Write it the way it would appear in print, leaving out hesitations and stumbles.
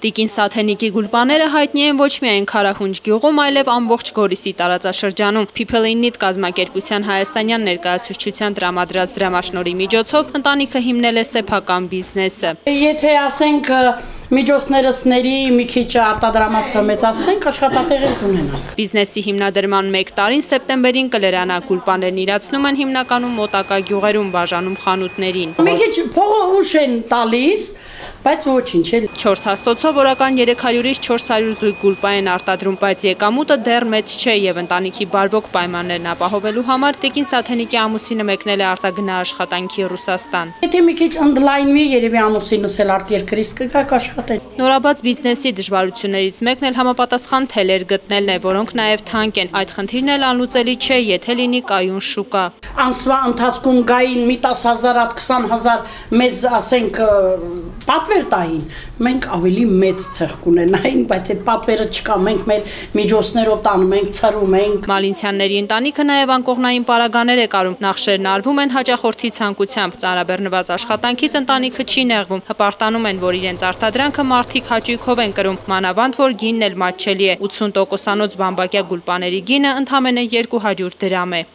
Տիկին Սաթենիկի գուլպաները հայտնի են ոչ միայն Քարահունջ գյուղում, այլև ամբողջ Գորիսի տարածաշրջանում։ People in Need կազմակերպության հայաստանյան ներկայացուցչության տրամադրած դրամաշնորհի միջոցով ընտանիքը հիմնել է սեփական բիզնեսը։ Եթե ասենք միջոցներսների մի քիչ արտադրամասը մեծացնենք, աշխատատեղեր կունենանք։ Բիզնեսի հիմնադրման 1 տարին սեպտեմբերին կլերանա գուլպաներն իրացնում են հիմնականում մոտակա գյուղերում, բաժանում խանութներին։ Մի քիչ փողը ուշ են տալիս, բայց ոչինչ էլ։ 4 հաստոցով օրական 300-ից 400 զույգ գուլպա են արտադրում, բայց եկամուտը դեռ մեծ չէ եւ ընտանիքի բարվոք պայմաններն ապահովելու համար Տիկին Սաթենիկի ամուսինը մեկնել է արտագնա աշխատանքի Ռուսաստան։ Եթե մի քիչ ընդլայնվի, երևի ամուսինս էլ արտերկրից կգա աշխատել։ Նորաբաց բիզնեսի դժվարություններից մեկն էլ համապատասխան թելեր գտնելն է, որոնք նաև թանկ են։ Այդ խնդիրն էլ անլուծելի չէ, եթե լինի կայուն շուկա։ Անցվա ընթացքում գային մի 10,000, 20,000 մեզ ասենք պատվեր տային, մենք ավելի մեծ ցեղ կունենայինք, բայց այդ պատվերը չկա, մենք մեր միջոցներով տանում ենք, ցրում ենք։ Մալինցյանների ընտանիքը նաև անկողնային պարագաներ է կարում, նախշերն արվում են հաճախորդի ցանկությամբ, ծանրաբեռնված աշխատանքից ընտանիքը չի նեղվում, հպարտանում են, որ իրենց արտադրանքը մարդիկ հաճույքով են կրում, մանավանդ որ գինն էլ մատչելի է, 80%-անոց բամբակյա գուլպաների գինը ընդամենը 200 դրամ է։